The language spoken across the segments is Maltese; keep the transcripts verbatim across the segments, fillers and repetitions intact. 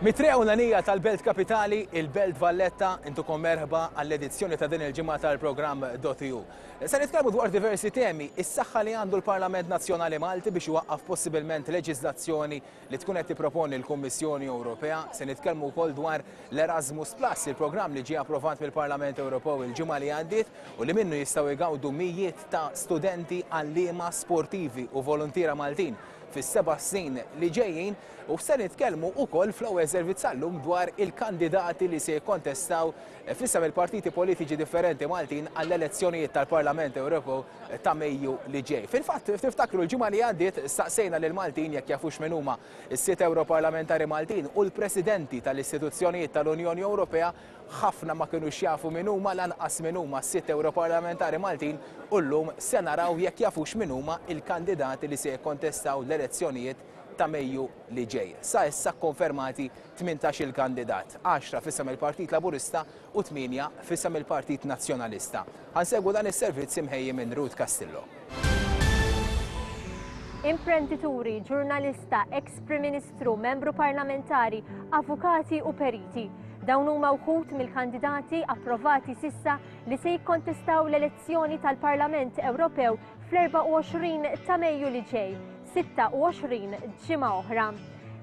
Mit-triq ewlenija tal-Belt Kapitali, il-Belt Valletta, intukom merħba għall-edizzjoni ta' din il-ġimgħa tal-programm dot E U. Se nitkellmu dwar diversi temi, is-saħħa li għandu l-Parlament Nazzjonali Malti biex iwaqqaf possibilment leġiżlazzjoni li tkun qed tipproponi l-Kummissjoni Ewropea. Se nitkellmu wkoll dwar l-Erasmus Plus, il-programm li ġie approvat mill-Parlament Ewropew il-ġimgħa li għaddiet u li minnu jistgħu jgawdu mijiet ta' studenti, għalliema, sportivi u volontiera Maltin fis-seba' snin li ġejjin, u se nitkellmu wkoll fl-ewwel servizz għallum dwar il-kandidati li se jikkontestaw f'isem il-partiti politiċi differenti Maltin għall-elezzjonijiet tal-Parlament Ewropew ta' Mejju li ġej. Fil-fatt, tiftakru l-ġimgħa li għaddiet staqsejna lil Maltin jekk jafux min huma s-sitt Europarlamentari Maltin u l-presidenti tal-istituzzjonijiet tal-Unjoni Ewropea. Ħafna ma kinux jafu min huma, lanqas min huma s-sitt Europarlamentari Maltin, u llum se naraw jekk jafux min huma il-kandidati li se jikkontestaw l-elezzjonijiet ta' Mejju li ġej. Sa issa konfermati tmintax il-kandidat, għaxra f'isem il-Partit Laburista u tmienja f'isem il-Partit Nazzjonalista. Ħa nsegwu dan is-servizz imħejji minn Ruth Castillo. Imprendituri, ġurnalista, ex-Prim Ministru, membru parlamentari, avukati u periti. Dawn huma wħud mill-kandidati approvati s'issa li se jikkontestaw l-elezzjoni tal-Parlament Ewropew fl-erbgħa u għoxrin ta' Mejju li ġej, sitta u għoxrin ġimgħa oħra.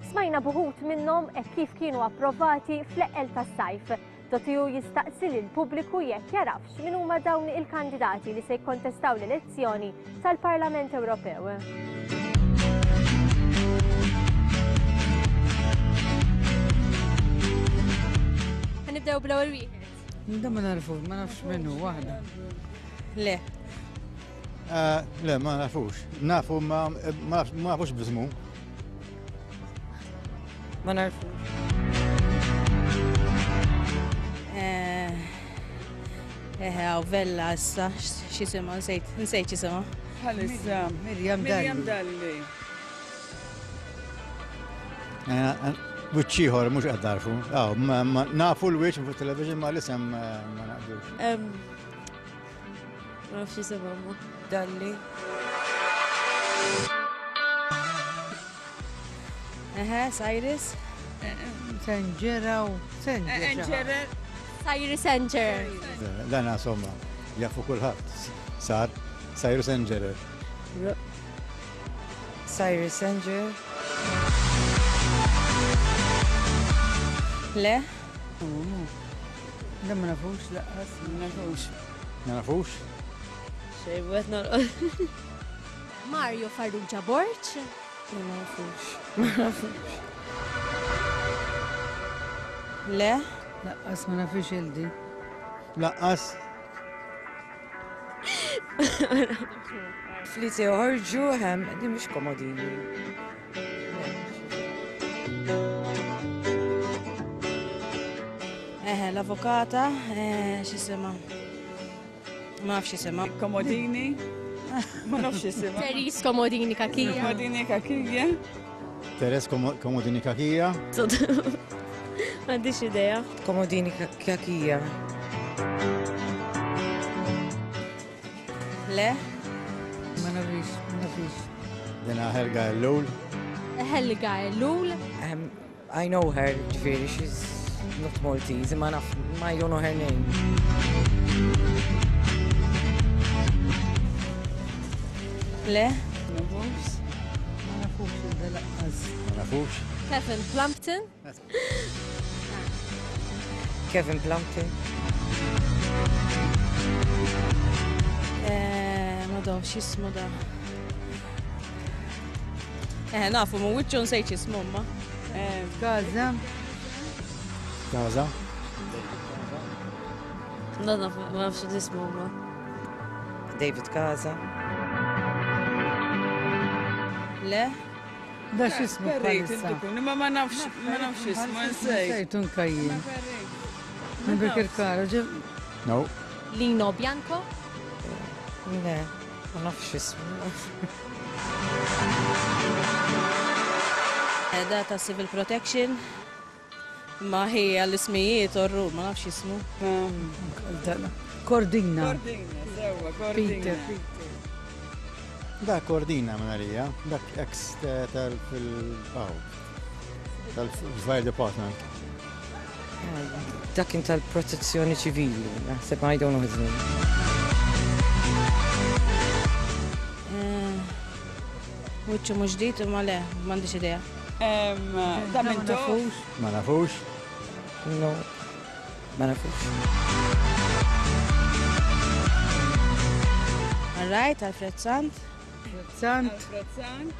Smajna b'uħud minnhom hekk kif kienu approvati fl-eqqel tas-sajf. Dot E U jistaqsi lill-pubbliku jekk jarafx min huma dawn il-kandidati li se jikkontestaw l-elezzjoni tal-Parlament Ewropew. Ħa nibdew bl-ewwel wieħed. Da ma narfu, ma nafx minnu waħda. Le. Eh, Le, ma nafux. Nafu, ma ma ma nafux b'ismu. Ma narfux. Eh, eh, għaw Vella issa, x'jisimha, nsejt, nsejt x'jisimha. Bħalissa. Mirjam Mirjam Dalli. Dalli. Eh, Wiċċ ieħor mhux qed narfu. Aw, ma- ma- Nafu l-wiċċ fuq television, ma l-isem eh, ma naqdux. Ma nafx jisimha ma. Dalli. Eħe, Cyrus. Senġera u Senġera. Enġerer. Cyrus Engerer. Dan insomma, jafu kulħadd. Sar, Cyrus Engerer. Cyrus Engerer. Le. Da ma nafux lanqas. Ma nafux. Ma nafux? Xej, wet norqod. Mario Farrugia Borg. Ma nafux. Ma nafux. Le. Lanqas ma nafux il-di. Lanqas. Fli se joħorġu hemm, di mhux Comodini. Eħe, l-avukata, eh, x'jisimha. Ma nafx x'jisimha. Comodini. Ma nafx x'jisimha. Therese Comodini Cachia. Comodini Cachia. Teres Comodini Cachia. M'għandix idea. Comodini Cachia. Le. Ma nafix, ma nafix. Dina Helga Ellul. Helga Ellul. Um, I know her, ġifieri, she's not Maltese, ma naf, ma I don't know her name. Le. Nafux. Ma nafux il-da lanqas. Ma nafux. Kevin Plumpton. Kevin Plumpton. Eh, ma do, x'jismu da. Eh, nafu, mu wiċċu nsejt x'jismu ma. Eh, Gaza. Gaza. Ma nafx jismu ma. David Casa. Le. Da x'ismu Perit bħalissa? inti imma ma nafx, ma nafx x'ismu, nsejt. Nsejt unkajjin. Minn Birkirkara. No. Lino Bianco. Le, ma nafx x'ismu. Eh, Da ta' Civil Protection. Ma hija l-ismijiet orru, ma nafx jismu. Cordina. Cordina, sewa, Cordina. Peter. Peter. Da Cordina minn għalija. Dak ex tal fil-baw. Tal-Fire Department. Dak kien tal-protezzjoni ċivili, naħseb I don't know his name. Wiċċu mhux ġdid imma le, m'għandix idea. Da minn nafux. Ma nafux. No, ma nafux. All right, Alfred Sant. Sant. Alfred Sant.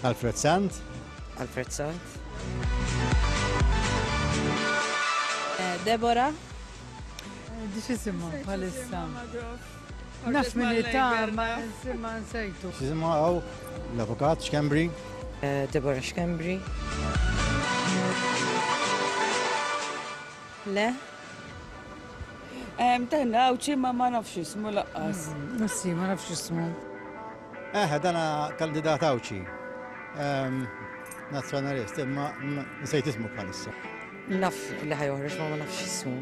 Alfred Sant. Alfred Sant. Deborah. Di x'isimha bħalissa? Naf min ta' ma ma nsejtu. X'isimha hawn l-avukat Schembri. Deborah Schembri. Le. Tenna għawċi ma ma nafx ismu laqqas. Nassi, ma nafx ismu. Eh, dana kandidat għawċi. Nazzjonalist, imma nsejt ismu bħalissa. Naf li ħajoħroġ ma ma nafx ismu.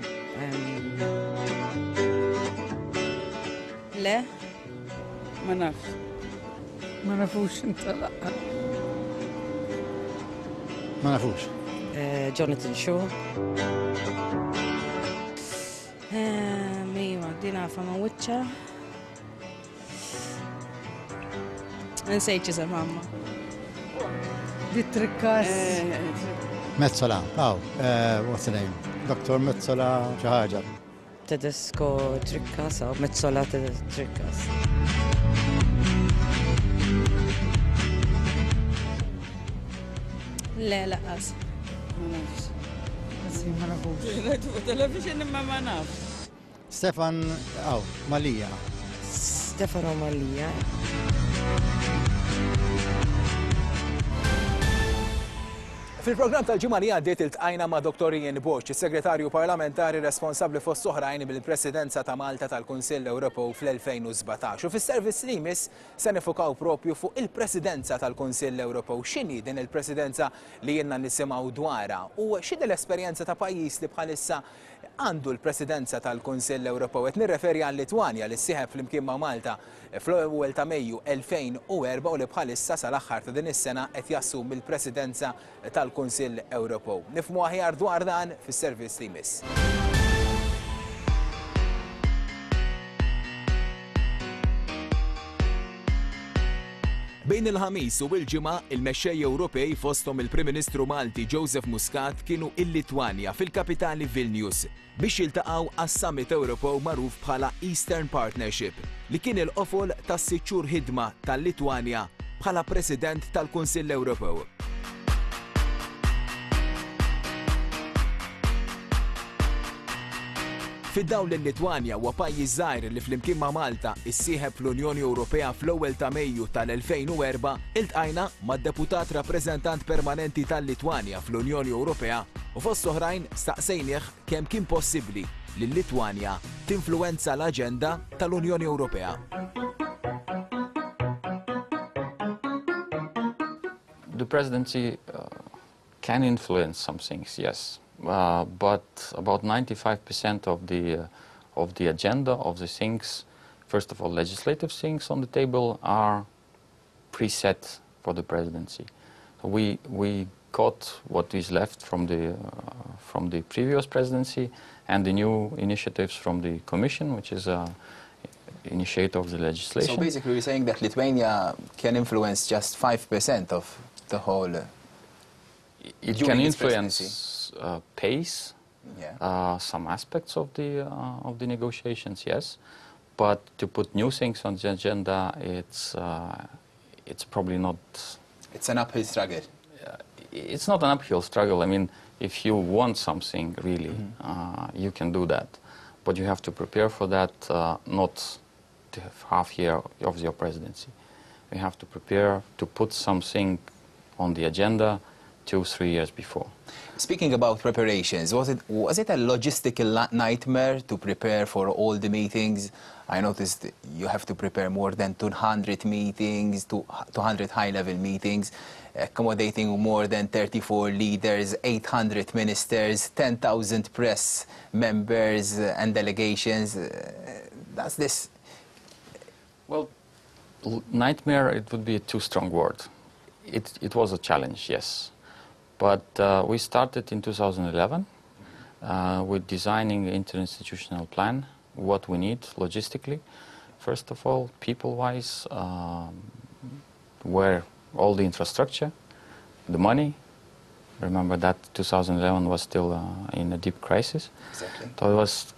Le. Ma nafx. Ma nafux inta laqqas. Ma nafux. Jonathan Shaw. Iva, din għafa ma wiċċa. Nsejt x'isem mamma. Di Trikkas. Metsola, aw, what's the name? Doktor Metsola xi ħaġa. Tedesco Trikkas, aw, Metsola Trikkas. Le, laqqas. Ma nafx. Ma nafux. Television imma ma nafx. Stefan, aw, Mallia. Stefano Mallia. Fil-programm tal-ġimgħa li għaddiet iltqajna ma' Doktor Ian Borg, is-Segretarju Parlamentari responsabbli fost oħrajn bil-Presidenza ta' Malta tal-Kunsill Ewropew fl-elfejn u sbatax. U fis-servizz li jmiss se nifukaw propju fuq il-Presidenza tal-Kunsill Ewropew. X'inhi din il-Presidenza li jiena nisimgħu dwarha u x'inhi l-esperjenza ta' pajjiż li bħalissa għandu l-Presidenza tal-Kunsill Ewropew? Qed nirreferi għal Litwanja li ssieħeb flimkien ma' Malta fl-ewwel ta' Mejju elfejn u erba' u li bħalissa sal-aħħar ta' din is-sena qed jassum il-Presidenza tal-Kunsill Ewropew. Nifhmu aħjar dwar dan fis-servizz li jmiss. Bejn il-ħamis u l-ġimgħa, il-mexxej Ewropej fosthom il-Prim Ministru Malti Joseph Muscat kienu il-Litwanja fil-kapitali Vilnius biex jiltaqgħu għas-Summit Ewropew magħruf bħala Eastern Partnership li kien il-qofol tas-sitt xhur ħidma tal-Litwanja bħala President tal-Kunsill Ewropew. Fid-dawl li l-Litwanja huwa pajjiż żgħir li flimkien ma' Malta issieħeb fl-Unjoni Ewropea fl-ewwel ta' Mejju tal-elfejn u erba' iltqajna mad-deputat rappreżentant permanenti tal-Litwanja fl-Unjoni Ewropea u fost oħrajn staqsejnieh kemm kien possibbli li l-Litwanja tinfluwenza l-aġenda tal-Unjoni Ewropea. The presidency uh, can influence some things, yes. Uh, but about ninety-five percent of the, uh, of the agenda, of the things, first of all, legislative things on the table are preset for the presidency. So we, we got what is left from the, uh, from the previous presidency and the new initiatives from the Commission, which is uh, initiator of the legislation. So basically you're saying that Lithuania can influence just five percent of the whole... Uh, it can influence Uh, pace, yeah. uh, some aspects of the, uh, of the negotiations, yes, but to put new things on the agenda, it's, uh, it's probably not... It's an uphill struggle. Uh, it's not an uphill struggle. I mean, if you want something, really, mm-hmm. uh, you can do that. But you have to prepare for that, uh, not the half year of your presidency. You have to prepare to put something on the agenda two, three years before. Speaking about preparations, was it, was it a logistical nightmare to prepare for all the meetings? I noticed you have to prepare more than two hundred meetings, two hundred high-level meetings, accommodating more than thirty-four leaders, eight hundred ministers, ten thousand press members and delegations. Does this... Well, nightmare, it would be a too strong word. It, it was a challenge, yes. But uh, we started in two thousand eleven uh, with designing interinstitutional plan, what we need logistically. First of all, people-wise, um, where all the infrastructure, the money. Remember that twenty eleven was still uh, in a deep crisis. Exactly. So it was,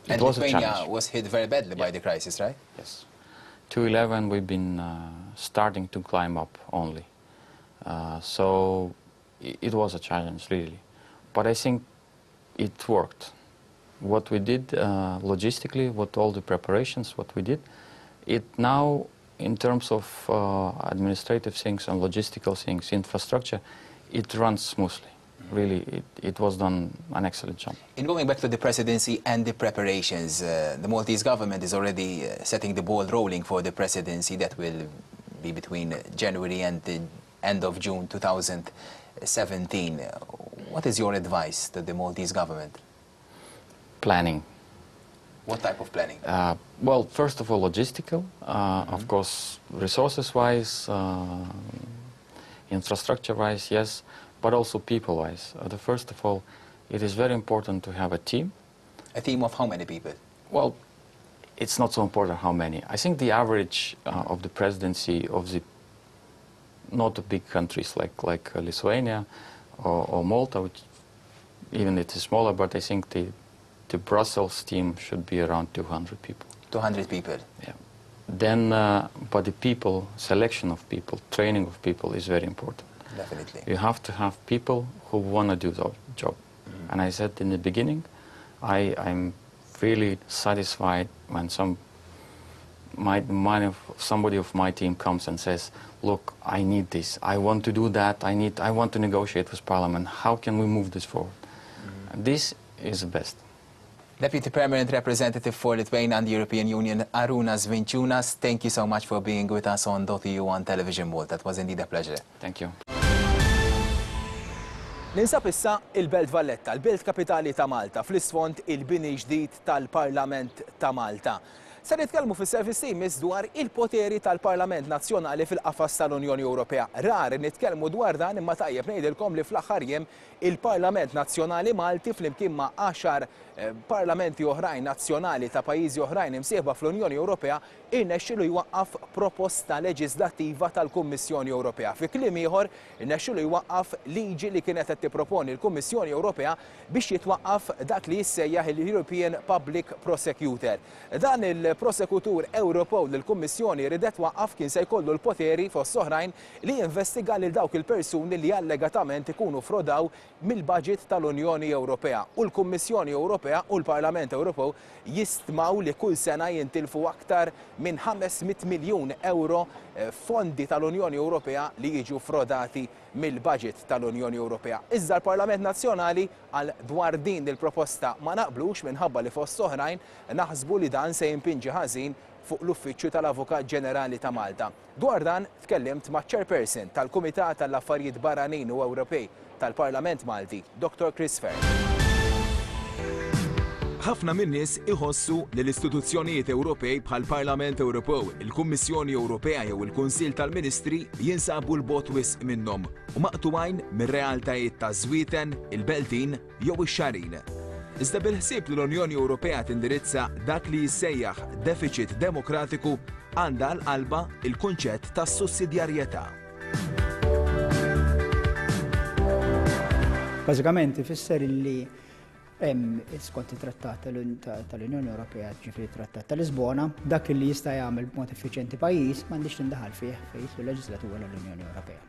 it And was a Lithuania challenge. was hit very badly by the crisis, right? Yes. twenty eleven we've been uh, starting to climb up only. Uh, so it, it was a challenge, really. But I think it worked. What we did uh, logistically, what all the preparations, what we did, it now, in terms of uh, administrative things and logistical things, infrastructure, it runs smoothly. Really, it, it was done an excellent job. In going back to the presidency and the preparations, uh, the Maltese government is already uh, setting the ball rolling for the presidency that will be between January and the end of June twenty seventeen. Uh, What is your advice to the Maltese government? Planning. What type of planning? Uh, well, first of all, logistical. Uh, Of course, resources-wise, uh, infrastructure-wise, yes, but also people-wise. Uh, the first of all, it is very important to have a team. A team of how many people? Well, it's not so important how many. I think the average uh, of the presidency of the not the big countries like like uh, Lithuania or, or Malta, which even it is smaller, but I think the the Brussels team should be around two hundred people. two hundred people. Yeah. Then, uh, but the people, selection of people, training of people is very important. Definitely. You have to have people who want to do the job. And I said in the beginning, I, I'm really satisfied when some my, my of, somebody of my team comes and says, "Look, I need this. I want to do that. I need. I want to negotiate with Parliament. How can we move this forward?" And this is the best. Deputy Permanent Representative for Lithuania and the European Union, Arunas Vinciunas, thank you so much for being with us on dot E U on Television Malta. That was indeed a pleasure. Thank you. Ninsab issa il-Belt Valletta, il-Belt Kapitali ta' Malta, fl-isfond il-bini ġdid tal-Parlament ta' Malta. Se nitkellmu fis-servizz imiss dwar il-poteri tal-Parlament Nazzjonali fil-qafas tal-Unjoni Ewropea. Rar nitkellmu dwar dan, imma tajjeb ngħidilkom li fl-aħħar jiem il-Parlament Nazzjonali Malti flimkien ma' għaxar eh, parlamenti oħrajn nazzjonali ta' pajjiżi oħrajn imsieħba fl-Unjoni Ewropea irnexxielu jwaqqaf proposta leġislattiva tal-Kummissjoni Ewropea. Fi kliem ieħor, irnexxielu jwaqqaf liġi li kienet qed tipproponi l-Kummissjoni Ewropea biex jitwaqqaf dak li jissejjaħ il-European Public Prosecutor. Dan il-prosekutur Ewropew li l-Kummissjoni ridet twaqqaf kien se jkollu l-poteri, fost oħrajn, li jinvestiga lil dawk il-persuni li allegatament ikunu frodaw mill-budget tal-Unjoni Ewropea. U l-Kummissjoni Ewropea u l-Parlament Ewropew jistmaw li kull sena jintilfu aktar minn ħames mitt miljun euro eh, fondi tal-Unjoni Ewropea li jiġu frodati mill-budget tal-Unjoni Ewropea. Iżda l-Parlament Nazzjonali għal dwar din il-proposta ma naqblux, minħabba li fost oħrajn naħsbu li dan se jimpinġi ħażin fuq l-Uffiċċju tal-Avukat Ġenerali ta' Malta. Dwar dan tkellimt ma' chairperson tal-Kumitat tal-Affarijiet Barranin u Ewropej tal-Parlament Malti, Doctor Chris Fearne. Ħafna min-nies iħossu li l-istituzzjonijiet Ewropej bħal Parlament Ewropew, il-Kummissjoni Ewropea jew il-Kunsill tal-Ministri jinsabu 'l bogħod wisq minnhom u maqtugħin mir-realtajiet ta' Żwieten, il-Beltin jew ix-Xagħrin. Iżda bil-ħsieb li l-Unjoni Ewropea tindirizza dak li jissejjaħ deficit demokratiku, għandha għal qalbha il-kunċett ta' sussidjarjetà. Bażikament ifisser illi hemm, skont it-Trattat tal-Unjoni Ewropea, ġifieri Trattat ta' Lisbona, dak li jista' jagħmel b'mod effiċjenti pajjiż m'għandix tindaħal fih fejn jidħlu leġislatura l-Unjoni Ewropea.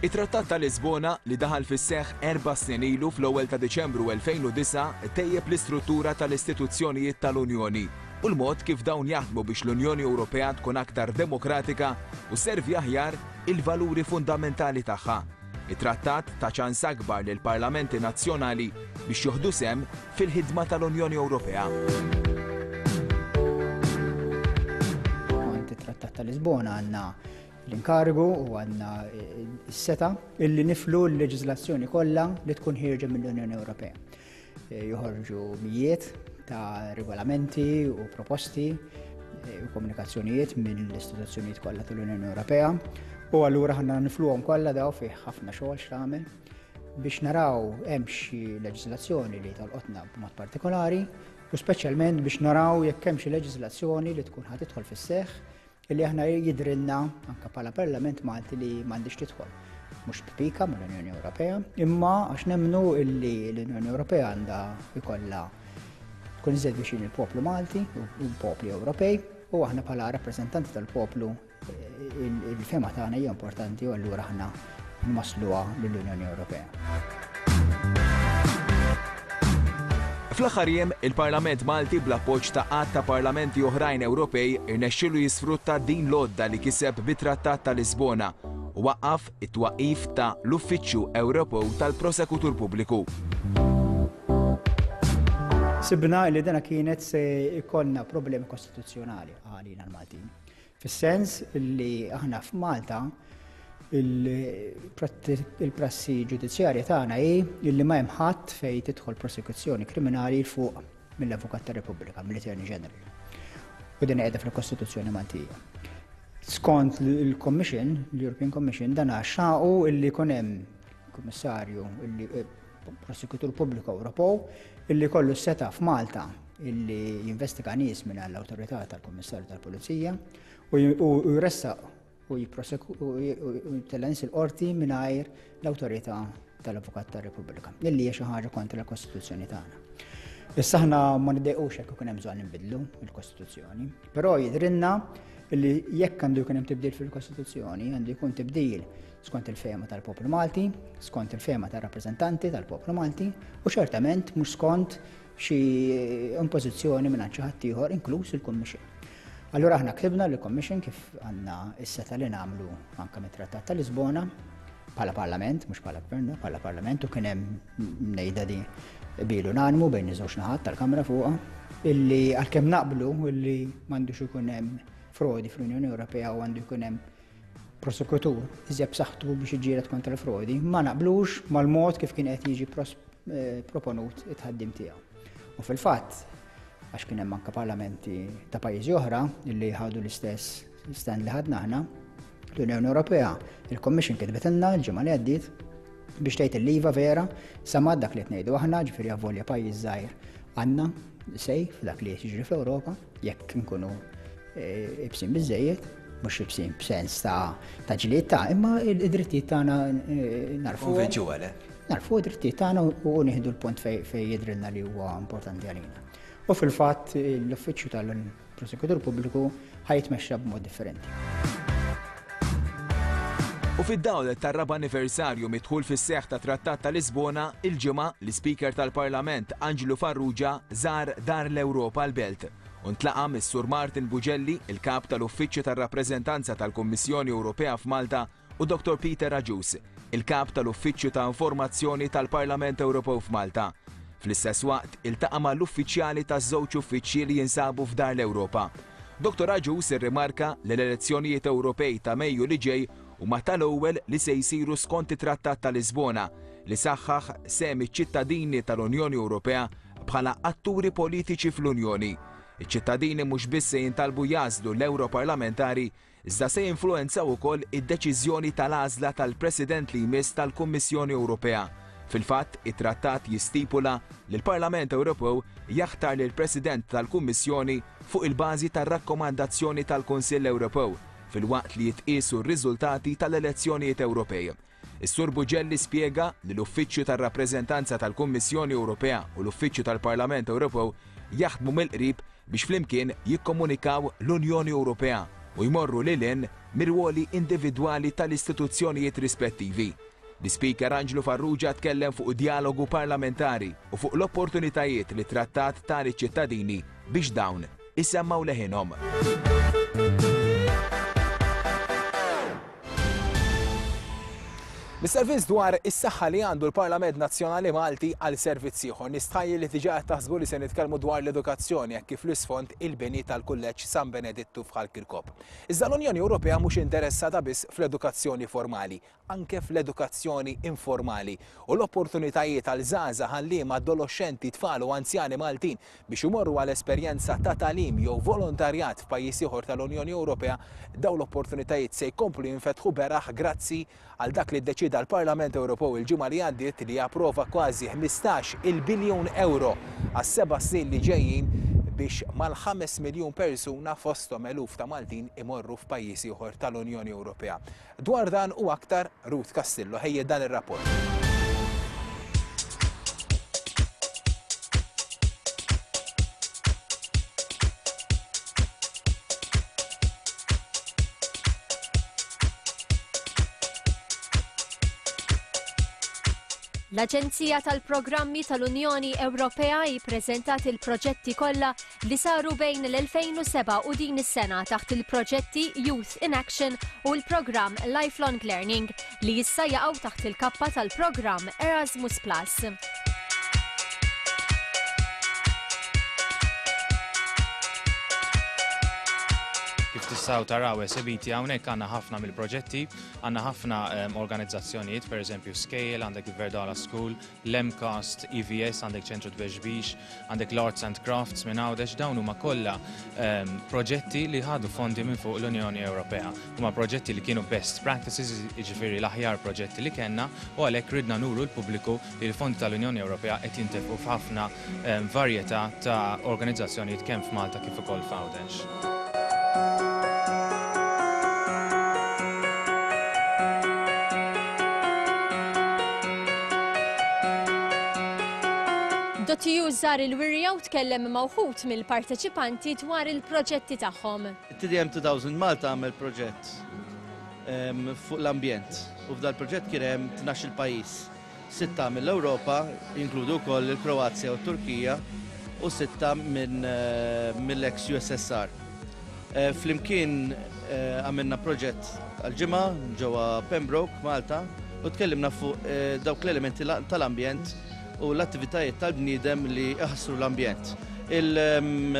It-Trattat ta' Lisbona, li daħal fis-seħħ erba' snin ilu fl-ewwel ta' Diċembru elfejn u disgħa, tejjeb l-istruttura tal-istituzzjonijiet tal-Unjoni u l-mod kif dawn jaħdmu biex l-Unjoni Ewropea tkun aktar demokratika u sservi aħjar il-valuri fundamentali tagħha. It-trattat ta ċans akbar lil parlamenti nazzjonali biex joħdu sehem fil-ħidma tal-Unjoni Ewropea. Skont it-Trattat ta' Lisbona għandna l-inkarigu u għandna s-setgħa illi niflu l-leġislazzjoni kollha li tkun ħierġa mill-Unjoni Ewropea. Joħorġu mijiet ta' regolamenti u proposti u komunikazzjonijiet mill-istituzzjonijiet kollha tal-Unjoni Ewropea u allura ħanna nifluhom kollha daw, fih ħafna xogħol x'tagħmel. Biex naraw hemm xi leġiżlazzjoni li tolqotna b'mod partikolari u speċjalment biex naraw jekk hemm xi leġiżlazzjoni li tkun ħa tidħol fis-seħħ illi aħna jidrilna anke bħala Parlament Malti li m'għandix tidħol. Mhux b'pika mal-Unjoni Ewropea, imma għax nemmnu illi l-Unjoni Ewropea għandha jkollha tkun iżjed viċin il-poplu Malti u l-popli Ewropej u aħna bħala rappreżentanti tal-poplu il-fehma tagħna hija importanti u allura aħna nwassluha lill-Unjoni Ewropea. Fl-aħħar jiem, il-Parlament Malti bl-appoġġ ta' għadd ta' parlamenti oħrajn Ewropej irnexxielu jisfrutta din l-għodda li kiseb bit-Trattat ta' Lisbona u waqqaf it-twaqqif ta' l-Uffiċċju Ewropew tal-Prosekutur Pubbliku. Sibna li dana kienet se jkollna problemi kostituzzjonali għalina l-Maltin. Fis-sens li aħna f'Malta il-prassi ġudizzjarja tagħna hi illi ma hemm ħadd fejn tidħol prosekuzzjoni kriminali fuq mill-Avukat tar-Repubblika, mill-Attorney General. U din qiegħda fil-Kostituzzjoni Maltija. Skont il-Commission, l-European Commission, dan xaqu illi jkun hemm kummissarju illi prosekutur pubbliku Ewropew illi kollu seta f'Malta illi jinvestiga nies minn l-awtorità tal-Kummissarju tal-Pulizija u jressaq u jtella' nies il-qorti mingħajr l-awtorità tal-Avukat tar-Repubblika, illi hija xi ħaġa kontra l-Kostituzzjoni tagħna. Issa aħna ma niddejqux jekk ikun hemm bżonn nbidlu l-Kostituzzjoni, però jidrinna illi jekk għandu jkun hemm tibdil fil-Kostituzzjoni, għandu jkun tibdil skont il-fehma tal-poplu Malti, skont il-fehma tar-rappreżentanti tal-poplu Malti, u ċertament mhux skont xi impożizzjoni minn xi ħadd ieħor, inkluż il-Kummissjoni. Allura aħna ktibna lill-Commission kif għandna s-seta li nagħmlu anke mit-Trattat ta' Lisbona bħala Parlament, mhux bħala Gvern, bħala Parlament, u kien hemm ngħidha di bilu unanimu bejn iż-żewġ naħat tal-Kamra fuqha, illi għalkemm naqblu illi m'għandux ikun hemm frodi fl-Unjoni Ewropea u għandu jkun hemm prosekutur iżjed b'saħħtu biex iġġieled kontra l-frodi, ma naqblux mal-mod kif kien qed jiġi proponut it-tħaddim tiegħu. U fil-fatt, għax kien hemm anke parlamenti ta' pajjiżi oħra illi ħadu l-istess stand li ħadna aħna, l-Unjoni Ewropea, il-Commission kitbetilna l-ġimgħa li għaddiet biex tgħid il-liva vera samad dak li qed ngħidu aħna, ġifieri avolja pajjiż żgħir għandna sej f'dak li jiġri fl-Ewropa, jekk nkunu ibsin biżejjed, mhux ibsin b'sens ta' ġlied ta' imma id-drittijiet tagħna narfu. Konvinċu għale. Narfu id-drittijiet tagħna u nieħdu l-punt fejn jidrilna li huwa importanti għalina. U fil-fatt l-uffiċċju tal-Prosekutur Pubbliku ħajtmexxa b'mod differenti. U fid-dawl tar-raba' anniversarju midħul fis-seħħ ta' Trattat ta' Lisbona, il-ġimgħa l-Ispeaker tal-Parlament Anġlu Farrugia żar Dar l-Ewropa l-Belt u ntlaqa' mis-Sur Martin Bugelli, il-kap tal-Uffiċċju tar-Rappreżentanza tal-Kummissjoni Ewropea f'Malta, u Dottor Peter Agius, il-kap tal-Uffiċċju ta' Informazzjoni tal-Parlament Ewropew f'Malta. Fl-istess waqt iltaqa' mal-uffiċjali taż-żewġ uffiċċji li jinsabu f'Dar l-Ewropa. Dottor Agius irrimarka li l-elezzjonijiet Ewropej ta' Mejju li ġej huma tal-ewwel li se jsiru skont it-Trattat ta' Lisbona li saħħaħ sehem iċ-ċittadini tal-Unjoni Ewropea bħala atturi politiċi fl-Unjoni. Iċ-ċittadini mhux biss se jintalbu jażlu l-Europarlamentari, iżda se jinfluwenzaw ukoll id-deċiżjoni tal-għażla tal-President li jmiss tal-Kummissjoni Ewropea. Fil-fatt, it-trattat jistipula li l-Parlament Ewropew jaħtar lil President tal-Kummissjoni fuq il-bażi tar-rakkomandazzjoni tal-Kunsill Ewropew fil-waqt li jitqiesu r-riżultati tal-elezzjonijiet Ewropej. Is-Sur Bugelli spjega li l-Uffiċċju tar-Rappreżentanza tal-Kummissjoni Ewropea u l-Uffiċċju tal-Parlament Ewropew jaħdmu mill-qrib biex flimkien jikkomunikaw l-Unjoni Ewropea u jmorru lil hinn mir-ruoli individwali tal-istituzzjonijiet rispettivi. L-Ispeaker Anġlu Farrugia tkellem fuq dialogu parlamentari u fuq l-opportunitajiet li trattat tali ċittadini biex dawn isemmaw leħinhom. Mis-servizz dwar is-saħħa li għandu l-Parlament Nazzjonali Malti għal servizz ieħor, nistħajjel li diġà qed taħsbu li se nitkellmu dwar l-edukazzjoni hekk kif l-isfond il-bini tal-Kulleġġ San Benedittu f'Ħal Kirkop. Iżda l-Unjoni Ewropea mhux interessata biss fl-edukazzjoni formali, anke fl-edukazzjoni informali u l-opportunitajiet għal żgħażagħ, ħalliema, adolescenti, tfal u anzjani Maltin biex imorru għal esperjenza ta' tagħlim jew volontarjat f'pajjiż ieħor tal-Unjoni Ewropea, dawn l-opportunitajiet se jkomplu jinfetħu beraħ grazzi għal dak li ddeċida Iddeċieda l-Parlament Ewropew il-ġimgħa li għaddiet li japprova kważi ħmistax il-biljun euro għas-seba' snin li ġejjin biex mal-ħames miljun persuna fosthom eluf ta' Maltin imorru f'pajjiż ieħor tal-Unjoni Ewropea. Dwar dan u aktar Ruth Castillo ħejjet dan ir-rapport. L-Aġenzija tal-Programmi tal-Unjoni Ewropea ippreżentat il-proġetti kollha li saru bejn l-elfejn u seba' u din is-sena taħt il-proġetti Youth in Action u l-programm Lifelong Learning li issa jaqgħu taħt il-kappa tal-programm Erasmus Plus. Kif tistgħu taraw esebiti hawnhekk għandna ħafna mill-proġetti, għandna ħafna organizzazzjonijiet, pereżempju Scale, għandek il-Verdala School, l-MCAST, E V S, għandek Ċentru Tbexbix, għandek l-Arts and Crafts minn Għawdex, dawn huma kollha proġetti li ħadu fondi minn fuq l-Unjoni Ewropea. Huma proġetti li kienu best practices, jiġifieri l-aħjar proġetti li kellna, u għalhekk ridna nuru l-pubbliku li l-fondi tal-Unjoni Ewropea qed jintefqu f'ħafna varjetà ta' organizzazzjonijiet kemm f'Malta kif ukoll f'Għawdex. Dotiju żar il-wirja u tkellem ma' wħud mill-parteċipanti dwar il-proġetti tagħhom. T D M two thousand Malta għamel proġett, em, fuq l-ambjent u f'dal proġett kien hemm tnax-il pajjiż. Sitta mill-Ewropa, jinkludu wkoll il-Kroazja u t-Turkija, u sitta minn, eh, mill-ex U S S R. Eh, flimkien, eh, għamilna proġett għal-ġimgħa ġewwa Pembroke, Malta, u tkellimna fuq, eh, dawk l-elementi la-, tal-ambjent u l-attivitajiet tal-bniedem li jaħsru l-ambjent. Il, em,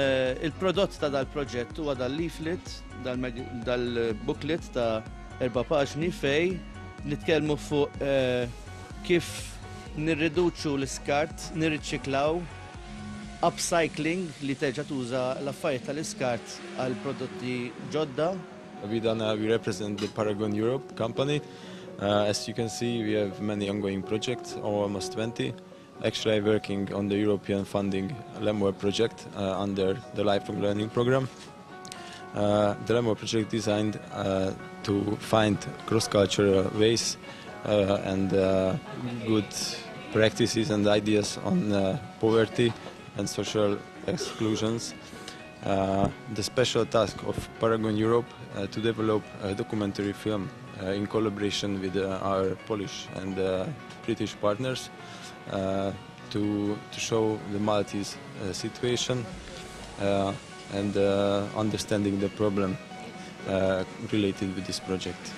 il-prodott ta' dal-proġett huwa dal-leaflet, dal-mag-, dal-booklet ta' erba' paġni fej nitkellmu fuq, eh, kif nirriduċu l-iskart, nirriċiklaw, upcycling li terġa' tuża l-affarijiet tal-iskart għal prodotti ġodda. We done, we represent the Paragon Europe company. Uh, as you can see, we have many ongoing projects, almost twenty. Actually, I'm working on the European funding Lemwer project, uh, under the Lifelong Learning Program. Uh, the Lemwer project designed, uh, to find cross-cultural ways, uh, and, uh, good practices and ideas on, uh, poverty and social exclusions. Uh, the special task of Paragon Europe, uh, to develop a documentary film, uh, in collaboration with, uh, our Polish and, uh, British partners, uh, to, to show the Maltese, uh, situation, uh, and, uh, understanding the problem, uh, related with this project.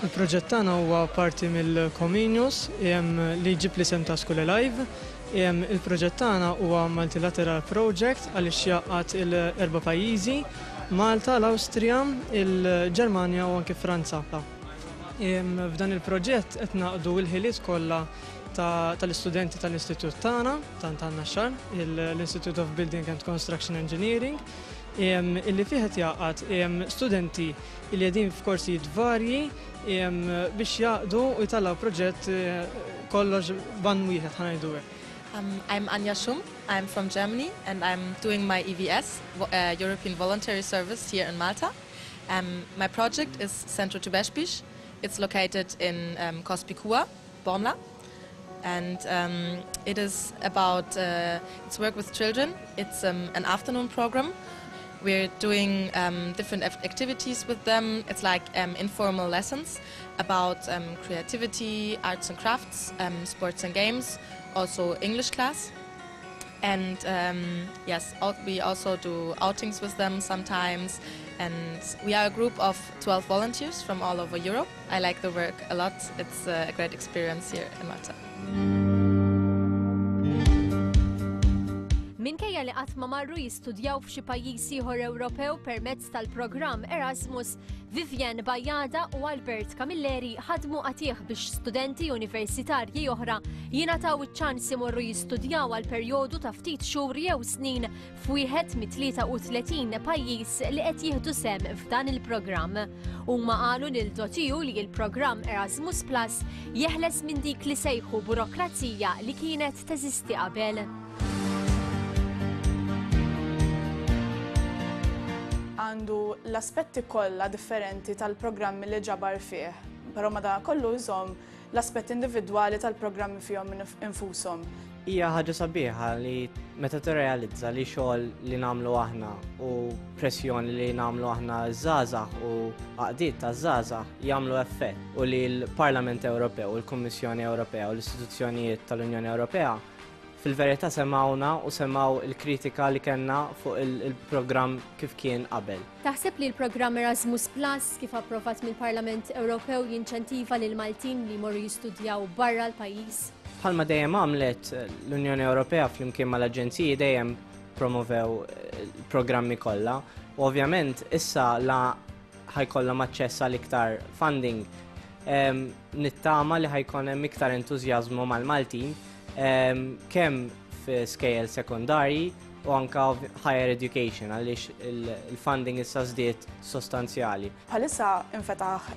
Il-proġett tagħna huwa parti mill-Comenius, jem, li jġib l-isem ta' School Alive. Jem, il-proġett tagħna huwa multilateral project għaliex jaqgħad il-erba' pajjiżi, Malta, l-Awstrija, il-Ġermanja u anke Franza. Jem, f'dan il-proġett qed naqdu l-ħiliet kollha ta', tal-istudenti tal-istitut tagħna, ta' Naxxar, l-Institute of Building and Construction Engineering, jem, illi fih qed jaqgħad, jem, studenti li qegħdin f'korsijiet varji, jem, biex jaqdu u jtellgħu proġett, eh, kollox ban wieħed ħanajdu hekk. Um, I'm Anja Schum, I'm from Germany and I'm doing my E V S, vo-, uh, European Voluntary Service here in Malta. Um, my project is Centro Tubeshbish. It's located in, um, Cospicua, Bormla. And, um, it is about, uh, it's work with children. It's, um, an afternoon program. We're doing, um, different act-, activities with them. It's like, um, informal lessons about, um, creativity, arts and crafts, um, sports and games, also English class. And, um, yes, al-, we also do outings with them sometimes. And we are a group of twelve volunteers from all over Europe. I like the work a lot. It's a great experience here in Malta. Minkejja Minkejja li qatt ma marru jistudjaw f'xi pajjiż ieħor Ewropew permezz tal-programm Erasmus, Vivian Bajada u Albert Camilleri ħadmu qatigħ biex studenti universitarji oħra jingħataw iċ-ċans imorru jistudjaw għal perjodu ta' ftit xhur jew snin f'wieħed mit-tlieta u tletin pajjiż li qed jieħdu sehem f'dan il-programm. Huma qalu lil Dotiju li l-programm Erasmus Plus jeħles minn dik li sejħu burokrazija li kienet teżisti qabel. Għandu l-aspetti kollha differenti tal-programmi li ġabar fih, però madankollu jżomm l-aspetti individwali tal-programmi fihom infushom. Hija ħaġa sabiħa li meta tirrealizza li xogħol li nagħmlu aħna u pressjoni li nagħmlu aħna żgħażagħ u għaqdiet ta' żgħażagħ jagħmlu effett u li l-Parlament Ewropew u l-Kummissjoni Ewropea u l-istituzzjonijiet tal-Unjoni Ewropea fil-verità semawna u semaw il-kritika li kellna fuq il-programm kif kien qabel. Taħseb li l-programm Erasmus Plus kif approvat mill-Parlament Ewropew jinċentiva lil Maltin li jmorru jistudjaw barra l-pajjiż? Bħalma dejjem għamlet l-Unjoni Ewropea flimkien mal-aġenziji dejjem promovew il-programmi kollha u ovvjament issa la ħajkollhom aċċess għal iktar funding, nittama li ħajkun hemm iktar entużjażmu mal-Maltin kemm fi skejjel sekondarji u anka higher education għaliex il-funding issa żdied sostanzjali. Bħalissa infetaħ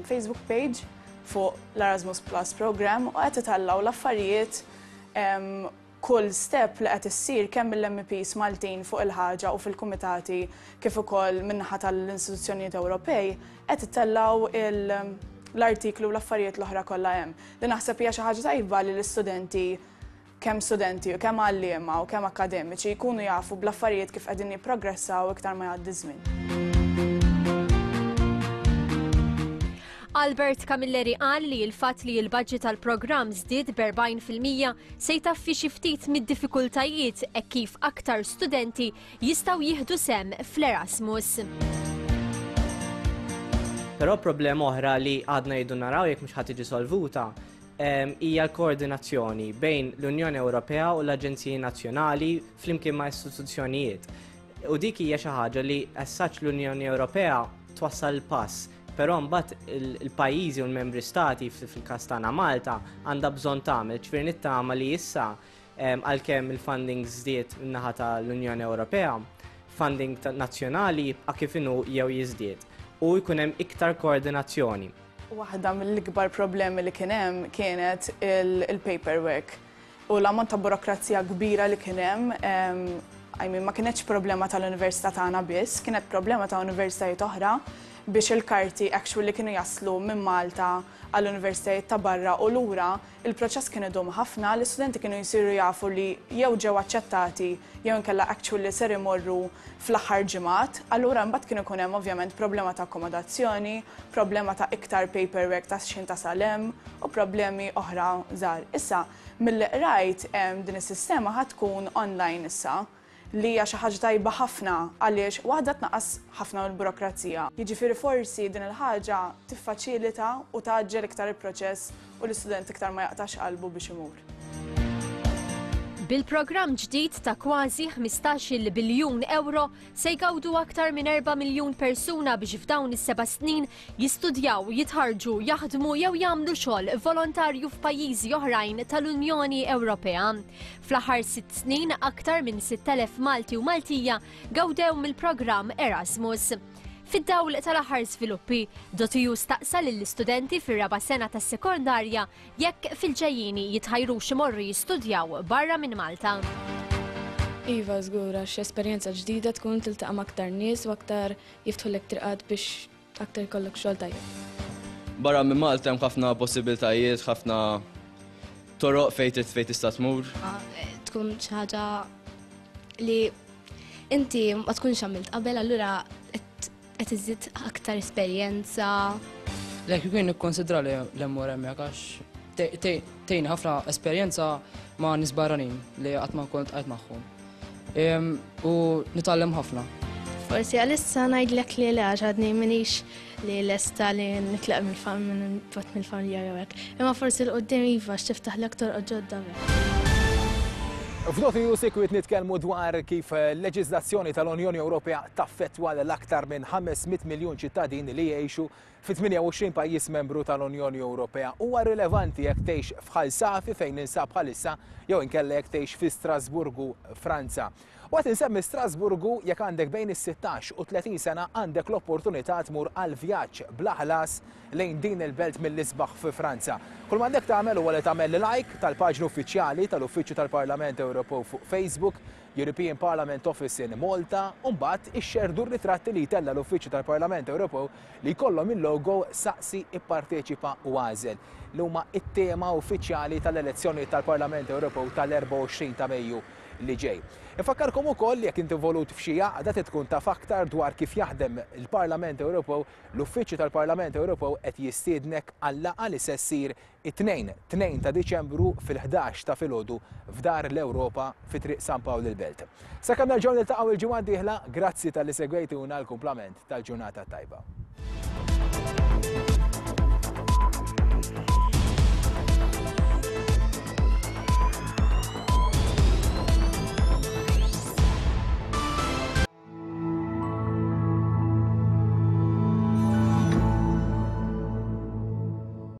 Facebook page fuq l-Erasmus Plus program u qed itellgħu l-affarijiet, kull step li qed issir kemm mill-M Ps Maltin fuq il-ħaġa u fil-kumitati kif ukoll min-naħa tal-istituzzjonijiet Ewropej qed itellgħu l-artiklu u l-affarijiet l-oħra kollha hemm. Li naħseb hija xi ħaġa tajba li l-istudenti, kemm studenti u kemm għalliema u kemm akademiċi, jkunu jafu bl-affarijiet kif qegħdin jipprogressaw iktar ma jgħaddi żmien. Albert Camilleri qal li l-fatt li l-budget tal-programm żdied b'erbgħin fil-mija se jtaffi xi ftit mid-diffikultajiet hekk kif aktar studenti jistgħu jieħdu sehem fl-Erasmus. Però problema oħra li għadna jridu naraw jekk mhux ħadd tiġi solvuta hija l-koordinazzjoni bejn l-Unjoni Ewropea u l-Aġenziji Nazzjonali flimkien ma' istituzzjonijiet. U dik hija xi ħaġa li as such l-Unjoni Ewropea twassal il-pass, però mbagħad il-pajjiżi u l-membri stati fil-każ tagħna Malta għandha bżonn tagħmel, ġifieri nittama li issa għalkemm il-funding żdied min-naħa tal-Unjoni Ewropea, funding nazzjonali jibqa' kif inhu jew jiżdied u jkun hemm iktar koordinazzjoni. Waħda mill-ikbar problemi li kien hemm kienet il-paperwork u l-ammont ta' burokrazija kbira li kien hemm, I mean, ma kienetx problema tal-università tagħna biss, kienet problema ta' universitajiet oħra biex il-karti actually kienu jaslu minn Malta għall-universitajiet ta' barra u lura, il-proċess kien idum ħafna, l-istudenti kienu jsiru jafu li jew ġew aċċettati jew inkella actually ser imorru fl-aħħar ġimgħat, allura mbagħad kienu jkun hemm ovvjament problema ta' akkomodazzjoni, problema ta' iktar paperwork ta' x'ħin tasal hemm u problemi oħra żgħar. Issa, milli qrajt, em, din is-sistema ħa tkun online issa, li hija xi ħaġa tajba ħafna għaliex waħda tnaqqas ħafna mill-burokrazija. Jiġifieri forsi din il-ħaġa tiffaċilita u tgħaġġel iktar il-proċess u l-istudent iktar ma jaqtax qalbu biex imur. Bil-programm ġdid ta' kważi ħmistax-il biljun euro se jgawdu aktar minn erba' miljun persuna biex f'dawn is-seba' snin jistudjaw, jitħarġu, jaħdmu jew jagħmlu xogħol volontarju f'pajjiżi oħrajn tal-Unjoni Ewropea. Fl-aħħar sitt snin aktar minn sitt elef Malti u Maltija gawdew mill-programm Erasmus. Fid-dawl tal-aħħar żviluppi, Dotiju staqsa lill-istudenti fir-raba' sena tas-sekondarja jekk fil-ġejjieni jitħajrux imorru jistudjaw barra minn Malta. Iva, żgur, għax esperjenza ġdida tkun tiltaqa' ma' aktar nies u aktar jiftħulek triqat biex aktar jkollok xogħol tajjeb. Barra minn Malta hemm ħafna possibiltajiet, ħafna toroq fejn trid fejn tista' tmur. Tkun xi ħaġa li inti ma tkunx għamilt qabel, allura qed iżid aktar esperjenza. Lek jkun nikkonsidra li l-emmur hemmhekk għax tgħin ħafna esperjenza ma' nies barranin li qatt ma kont qajt magħhom. Em, u nitgħallem ħafna. Forsi għalissa ngħidlek li le, għax għadni m'iniex li lesta li nitlaq mill-familja jew hekk. Imma forsi l-qudiem iva għax tiftaħlek torqod ġodda. F'Dot E U sikwit nitkellmu dwar kif leġiżlazzjoni tal-Unjoni Ewropea taffettwa l-aktar minn ħames mitt miljun ċittadin li jgħixu fi tmienja u għoxrin pajjiż membru tal-Unjoni Ewropea. Huwa rilevanti jekk tgħix f'Ħal Safi fejn ninsab bħalissa jew inkella jekk tgħix fi Strasburgu, Franza. U qed insemmi Strasburgu jekk għandek bejn is-sittax u tletin sena għandek l-opportunità tmur għal vjaġġ bla ħlas lejn din il-belt mill-isbaħ fi Franza. Kull m'għandek tagħmel huwa li tagħmel like tal-paġna uffiċjali tal-Uffiċċju tal-Parlament Ewropew fuq Facebook, European Parliament Office in Malta, u mbagħad ixxerdu r-ritratti li jtella l-Uffiċċju tal-Parlament Ewropew li jkollhom il-logo Saqsi, Ipparteċipa u Għażel, li huma it-tema uffiċjali tal-elezzjoni tal-Parlament Ewropew tal-erbgħa u għoxrin ta' Mejju li ġej. Infakkarkom ukoll jekk inti involut f'xi għaqda trid tkun taf aktar dwar kif jaħdem il-Parlament Ewropew, l-Uffiċċju tal-Parlament Ewropew qed jistiednek għal-laqgħa li se ssir it-tnejn, tnejn ta' Diċembru fil-ħdax ta' filgħodu f'Dar l-Ewropa fi Triq San Pawl il-Belt. Sakemm nerġgħu niltaqgħu il-ġimgħa d-dieħla, grazzi talli segwejtuna l-kumplament tal-ġurnata tajba.